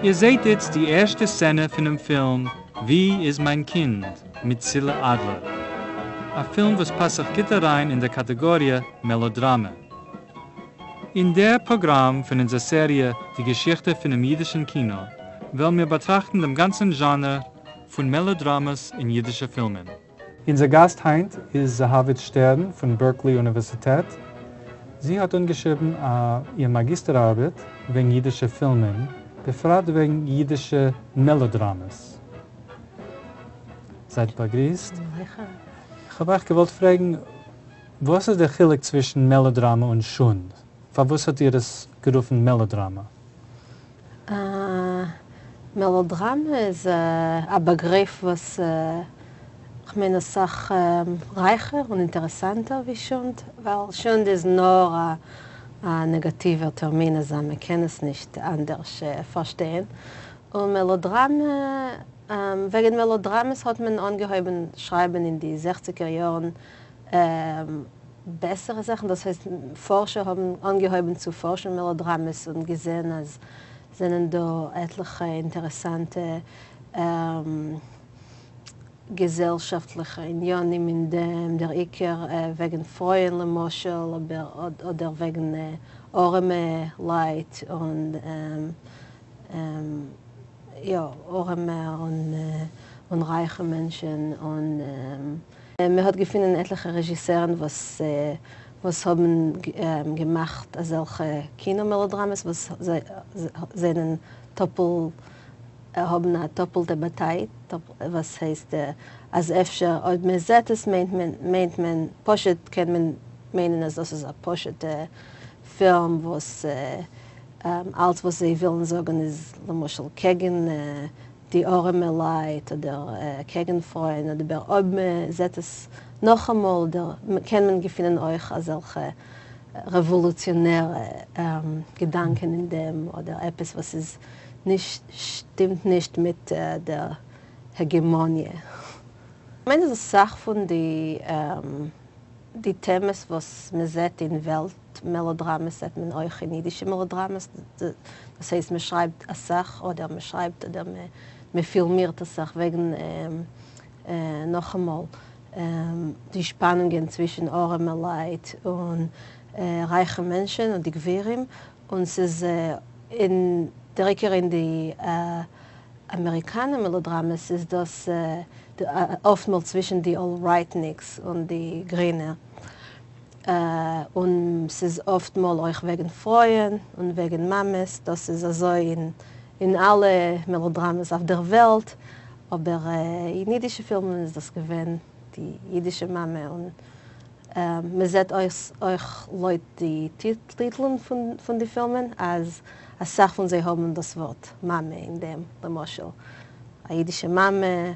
איר זעט איצט די ערשטע סצענע פֿונעם פֿילם וווּ איז מײַן קינד? מיט צילה אַדלער. אַ פֿילם וואָס פּאַסט זיך גוט אַרײַן אין דער קאַטעגאָריע מעלאָדראַמע. אין דער פּראָגראַם פֿון אונדזער סעריע די געשיכטע פֿונעם ייִדישן קינאָ וועלן מיר באַטראַכטן דעם גאַנצן זשאַנער פֿון מעלאָדראַמעס אין ייִדישע פֿילמען. אונדזער גאַסט הײַנט איז זהבית שטערן פֿון בערקלי אוניווערסיטעט. זי האָט אָנגעשריבן איר מאַגיסטער-אַרבעט וועגן ייִדישע פֿילמען, בפֿרט וועגן ייִדישע מעלאָדראַמעס. זײַט באַגריסט. איך האָב אײַך געוואָלט פֿרעגן, וואָס איז דער חילוק צווישן מעלאָדראַמע און שונד? פֿאַר וואָס האָט איר עס גערופֿן מעלאָדראַמע? מעלאָדראַמע איז אַ באַגריף וואָס כ'מיין אַ סך רײַכער און אינטערעסאַנטער ווי שונד, ווײַל שונד איז נאָר אַ נעגאַטיווער טערמין, אַזוי מע קען עס נישט אַנדערש פֿאַרשטיין. און מעלאָדראַמע, וועגן מעלאָדראַמעס האָט מען אָנגעהויבן שרײַבן אין די 60ער יאָרן בעסערע זאַכן, דאָס הייסט, פֿאָרשער האָבן אָנגעהויבן צו פֿאָרשן מעלאָדראַמעס און געזען, אַז זענען דאָ עטלעכע אינטערעסאַנטע געזעלשאַפֿטלעכע ענינים אין דעם, דער עיקר וועגן פֿרויען למשל, אָבער אָדער וועגן אָרעמע לײַט און יאָ, אָרעמע און רײַכע מענטשן און מע האָט געפֿונען עטלעכע רעזשיסערן וואָס וואָס האָבן געמאַכט אַזעלכע קינאָ-מעלאָדראַמעס וואָס זענען טאָפּל האָבן אַ טאָפּלטע באַטייט, וואָס הייסט, אַז אפֿשר אויב מע זעט עס מיינט מען מיינט מען פּשוט קען מען מיינען אַז דאָס איז אַ פּשוטע פֿילם וואָס אַלץ וואָס זיי ווילן זאָגן איז למשל קעגן די אָרעמע לײַט אָדער קעגן פֿרויען, אָבער אויב מע זעט עס נאָך אַ מאָל, אָדער קען מען געפֿינען אויך אַזעלכע רעוואָלוציאָנערע געדאַנקען אין דעם, אָדער עפּעס וואָס איז נישט שטימט נישט מיט דער העגעמאָניע. כ'מיין אַז אַ סך פֿון די די טעמעס וואָס מע זעט אין וועלט מעלאָדראַמעס זעט מען אויך אין ייִדישע מעלאָדראַמעס. דאָס הייסט, מע שרײַבט אַ סך אָדער מע שרײַבט אָדער מע פֿילמירט אַ סך וועגן נאָך אַ מאָל די שפּאַנונגען צווישן אָרעמע לײַט און רײַכע מענטשן און די גבֿירים. און ס'איז אין דער עיקר אין די אַמעריקאַנער מעלאָדראַמעס איז דאָס אָפֿט מאָל צווישן די אָל-רײַטניקס און די גרינע. און ס'איז אָפֿט מאָל אויך וועגן פֿרויען און וועגן מאַמעס. דאָס איז אַזוי אין אין אַלע מעלאָדראַמעס אויף דער וועלט, אָבער אין ייִדישע פֿילמען איז דאָס געווען די ייִדישע מאַמע. און מע זעט אויך לויט די טיטלען פֿון די פֿילמען, אַז אַ סך פֿון זיי האָבן דאָס וואָרט מאַמע אין דעם, למשל, אַ ייִדישע מאַמע,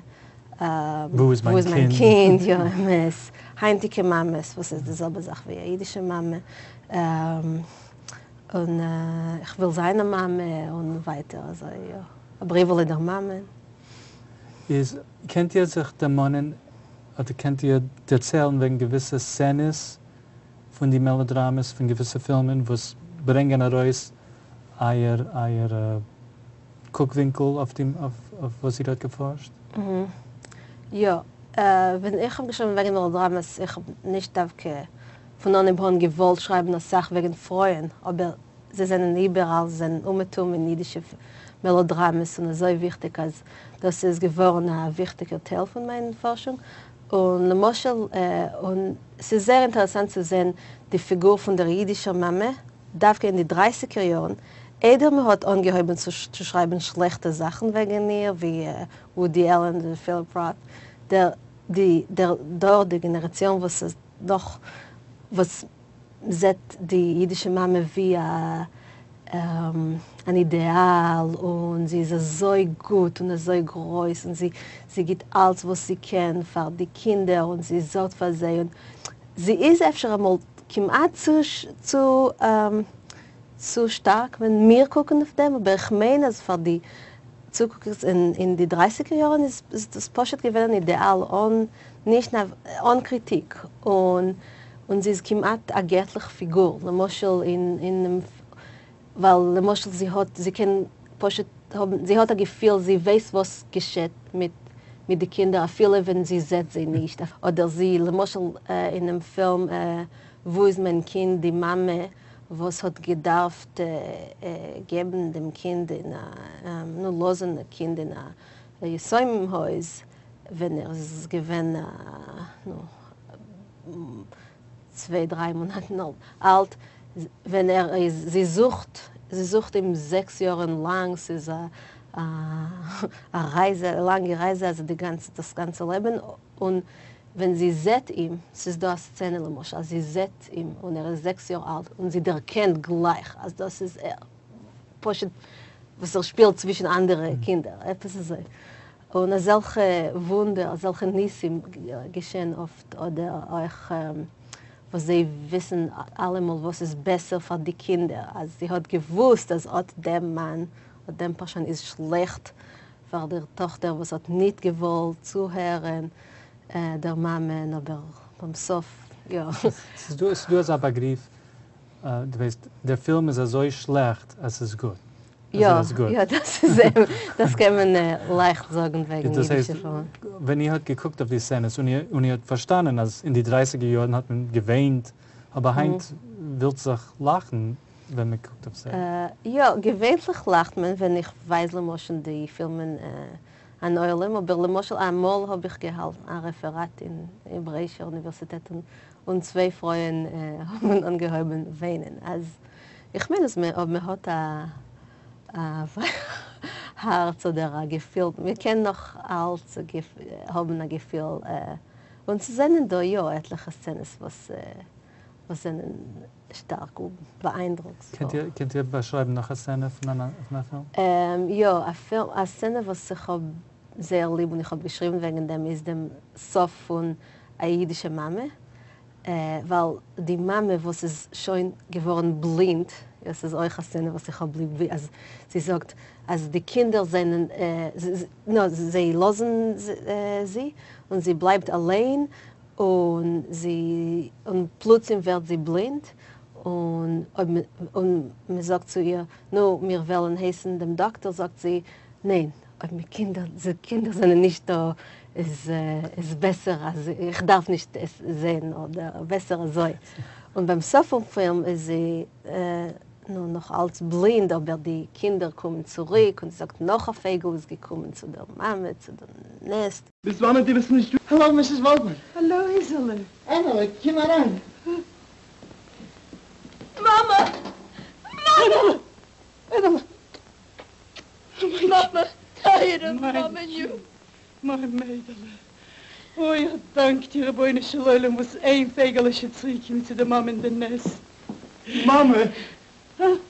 וווּ איז מײַן קינד? יאָ, אמת. הײַנטיקע מאַמעס, וואָס איז די זעלבע זאַך ווי אַ ייִדישע מאַמע. און איך וויל זײַן אַ מאַמע און ווײַטער אַזוי, יאָ. אַ בריוועלע דער מאַמען. איז, קענט איר זיך דערמאָנען אָדער קענט איר דערציילן וועגן געוויסע סצענעס פֿון די מעלאָדראַמעס, פֿון געוויסע פֿילמען, וואָס ברענגען אַרויס אײַער אײַער קוקווינקל אויף די אויף וואָס איר האָט געפֿאָרשט? יאָ, ווען איך האָב געשריבן וועגן מעלאָדראַמעס, איך האָב נישט דווקא פֿון אָנהייב אָן געוואָלט שרײַבן אַ סך וועגן פֿרויען, אָבער זיי זענען איבעראַל, זיי זענען אומעטום אין ייִדישע מעלאָדראַמעס און אַזוי וויכטיק, אַז דאָס איז געוואָרן אַ וויכטיקער טייל פֿון מײַן פֿאָרשונג. און למשל, און ס'איז זייער אינטערעסאַנט צו זען די פֿיגור פֿון דער ייִדישער מאַמע, דווקא אין די 30ער יאָרן, איידער מע האָט אָנגעהויבן צו שרײַבן שלעכטע זאַכן וועגן איר, ווי ווודי עלען און פֿיליפּ ראט, דער די דער דור, די גענעראַציאָן וואָס איז נאָך וואָס זעט די ייִדישע מאַמע ווי אַ אַן אידעאַל און זי איז אַזוי גוט און אַזוי גרויס און זי זי גיט אַלץ וואָס זי קען פֿאַר די קינדער און זי זאָרגט פֿאַר זיי און זי איז אפֿשר אַמאָל כּמעט צו צו צו שטאַרק ווען מיר קוקן אויף דעם, אָבער איך מיין אַז פֿאַר די צוקוקערס אין אין די 30ער יאָרן איז דאָס פּשוט געווען אַן אידעאַל אָן נישט אָן קריטיק און און זי איז כּמעט אַ געטלעך פֿיגור, למשל אין אינעם ווײַל למשל זי האָט זי קען פּשוט. האבן, זי האט א געפיל, זי ווייסט וואס געשעט מיט מיט די קינדער אפילו ווען זי זעט זיי נישט, אדער זי, למשל אינעם פילם וואו איז מיין קינד, די מאמע וואס האט געדארפט געבן דעם קינד אין א, נו, לאזן די קינד אין א יתומים הויז ווען ער איז געווען א, נו, צוויי דריי מאנאטן אלט, ווען ער איז, זי זוכט, זי זוכט אים זעקס יארן לאנג, ס'איז א א רייזע, א לאנגע רייזע, אזוי די גאנצע, דאס גאנצע לעבן, און ווען זי זעט אים, ס'איז דא א סצענע למשל אז זי זעט אים און ער איז זעקס יאר אלט און זי דערקענט גלייך אז דאס איז ער, פשוט וואס ער שפילט צווישן אנדערע קינדער, עפעס אזוי. און אזעלכע וואונדער, אזעלכע ניסים געשען אפט, אדער אויך וואס זיי וויסן אלעמאל וואס איז בעסער פאר די קינדער, אז זי האט געוואוסט אז אט דעם מאן, אט דעם פארשוין איז שלעכט פאר דער טאכטער וואס האט ניט געוואלט צוהערען דער מאמען, אבער ביים סוף יא. ס'איז דא, ס'איז דא אזא באגריף, דו ווייסט, דער פילם איז אזוי שלעכט אז ס'איז גוט. יא, יא, דאס איז אמת, דאס קען מען לייכט זאגן וועגן אידישע פילמען. ווען איר האט געקוקט אויף די סצענעס און איר האט פארשטאנען אז אין די דרייסיגער יארן האט מען געוויינט, אבער היינט ווילט זיך לאכן ווען מען קוקט אויף זיי. יא, געווענטליך לאכט מען ווען איך ווייז למשל די פילמען אן עולם, אבער למשל אמאל האב איך געהאלטן א רעפעראט אין העברעאישער אוניווערסיטעט און צוויי פרויען האבן אנגעהויבן וויינען, אז איך מיין אז אויב מען האט א הארץ אדער א געפיל, מען קען נאך אלץ האבן א געפיל, און ס'זענען דא יא עטליכע סצענעס וואס זענען שטארק באאיינדרוקספול. קענט איר באשרייבן נאך א סצענע פון א פילם? יא, א סצענע וואס איך האב זייער ליב און איך האב געשריבן וועגן דעם איז דעם סוף פון א אידישע מאמע, ווייל די מאמע וואס איז שוין געווארן בלינד, עס איז אויך א סצענע וואס איך האב ליב, ווי אז זי זאגט אז די קינדער זענען, נא, זיי לאזן זי און זי בלייבט אליין, און זי, און פלוצים ווערט זי בלינד, און אויב און מען זאגט צו איר, נו, מיר וועלן הייסן דעם דאקטער, זאגט זי, ניין, אויב מיין קינדער, די קינדער זענען נישט דא, איז איז בעסער אז איך דארף נישט עס זען, אדער בעסער אזוי. און ביים סוף פון פילם איז זי נו נאך אלץ בלינד, אבער די קינדער קומען צוריק, און זי זאגט נאך א פייגל איז געקומען צו דער מאמע, צו דער נעסט. ביז וואנעט דו ביסט נישט דא. האלא מיסיס וואלדמאן. האלא איזעלע. ענעלע, קום אריין. מאמע! מאמע! ענעלע! מאמע! טייערע מאמעניו! מיין מיידעלע. אוי, א דאנק דיר רבונו של עולם וואס איין פייגעלע איז שוין צוריקגעקומען צו די מאמע אין די נעסט. מאמע!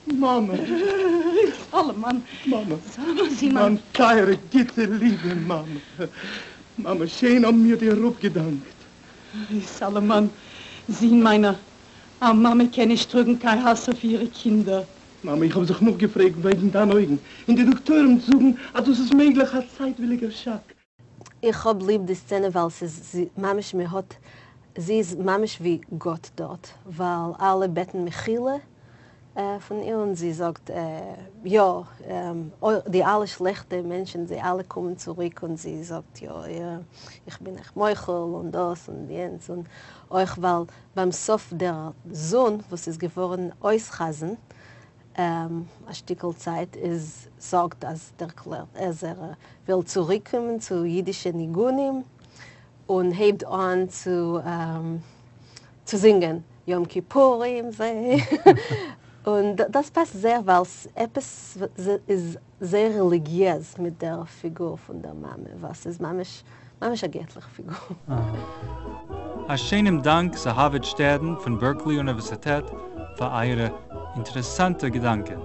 מאמע! סאלאמאן! מאמע! מיין טייערע גוטע ליבע מאמע! מאמע, שיין האבן מיר דיר אפגעדאנקט. אוי, סאלאמאן, זון מיינער, א מאמע קען נישט טראגן קיין האס אויף אירע קינדער. מאמע, איך האב זיך נאכגעפרעגט וועגן דיינע אויגן, און די דאקטוירים זאגן אז דאס איז מעגליך א צייטוויליגער שאק. איך האב ליב די סצענע ווייל ס'איז ממש מען האט, זי איז ממש ווי גאט דארט, ווייל אלע בעטן מחילה פון איר און זי זאגט יא, די אלע שלעכטע מענטשן זיי אלע קומען צוריק און זי זאגט יא איך בין אייך מוחל און דאס און יענץ, און אויך ווייל ביים סוף דער זון וואס איז געווארן אויס חזן א שטיקל צייט איז זאגט אז דערקלערט אז ער וויל צוריקקומען צו אידישע ניגונים און הייבט אן צו צו זינגען יום כיפורים זה און דאס פאסט זייער ווייל עפעס איז זייער רעליגיעז מיט דער פיגור פון דער מאמע וואס איז ממש ממש א געטליכע פיגור. א שיינעם דאנק זהבית שטערן פון בערקלי אוניווערסיטעט פאר אייערע אינטערעסאנטע געדאנקען.